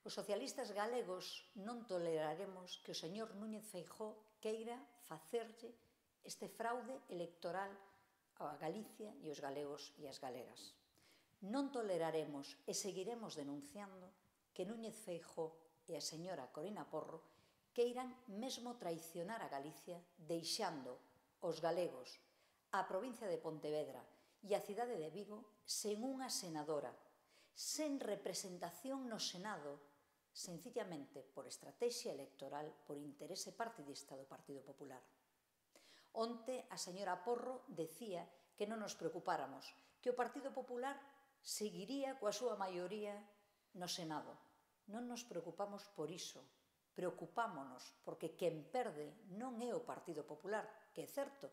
Os socialistas galegos non toleraremos que o señor Núñez Feijóo queira facerlle este fraude electoral a Galicia e os galegos e as galegas. Non toleraremos e seguiremos denunciando que Núñez Feijóo e a señora Corina Porro queiran mesmo traicionar a Galicia deixando os galegos, a provincia de Pontevedra e a cidade de Vigo sen unha senadora, sen representación no Senado, sencillamente por estrategia electoral, por interese partidista do Partido Popular. Onte a señora Porro decía que non nos preocupáramos, que o Partido Popular seguiría coa súa maioría no Senado. Non nos preocupamos por iso, preocupámonos porque quen perde non é o Partido Popular, que é certo,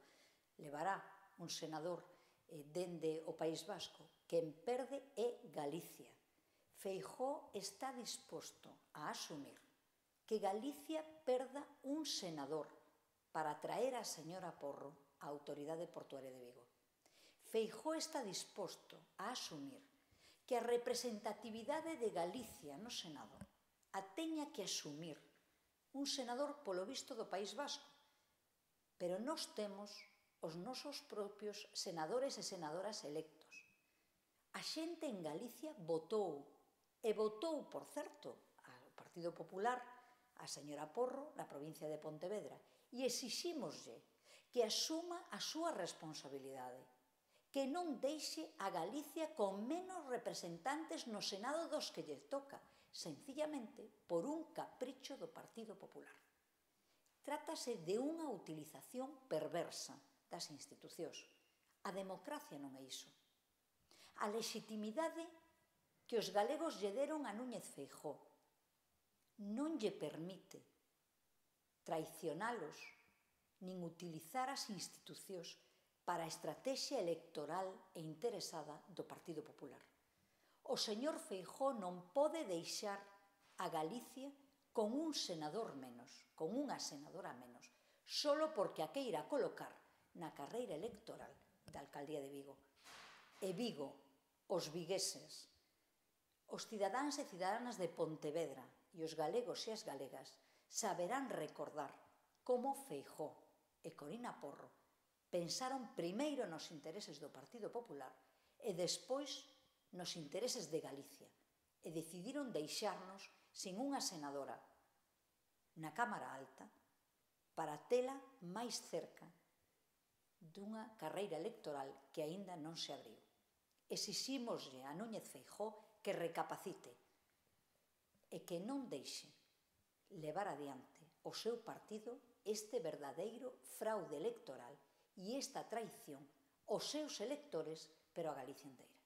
levará un senador dende o País Vasco, quen perde é Galicia. Feijóo está disposto a asumir que Galicia perda un senador para traer a señora Porro á Autoridade Portuaria de Vigo. Feijóo está disposto a asumir que a representatividade de Galicia no Senado a teña que asumir un senador polo visto do País Vasco, pero nós temos os nosos propios senadores e senadoras electos. A xente en Galicia votou, e votou, por certo, ao Partido Popular, a señora Porro, na provincia de Pontevedra, e exixímoslle que asuma a súa responsabilidade, que non deixe a Galicia con menos representantes no Senado dos que lle toca, sencillamente por un capricho do Partido Popular. Trátase de unha utilización perversa das institucións. A democracia non é iso. A legitimidade que os galegos lle deron a Núñez Feijóo non lle permite traicionalos nin utilizar as institucións para a estrategia electoral e interesada do Partido Popular. O señor Feijóo non pode deixar a Galicia con un senador menos, con unha senadora menos, solo porque a queira colocar na carreira electoral da alcaldía de Vigo. E Vigo, os vigueses, os cidadáns e cidadánas de Pontevedra e os galegos e as galegas saberán recordar como Feijóo e Corina Porro pensaron primeiro nos intereses do Partido Popular e despois nos intereses de Galicia e decidiron deixarnos sin unha senadora na Cámara Alta para tela máis cerca dunha carreira electoral que aínda non se abriu. Exixímoslle a Núñez Feijóo que recapacite e que non deixe levar adiante o seu partido este verdadeiro fraude electoral e esta traición aos seus electores, pero a Galicia inteira.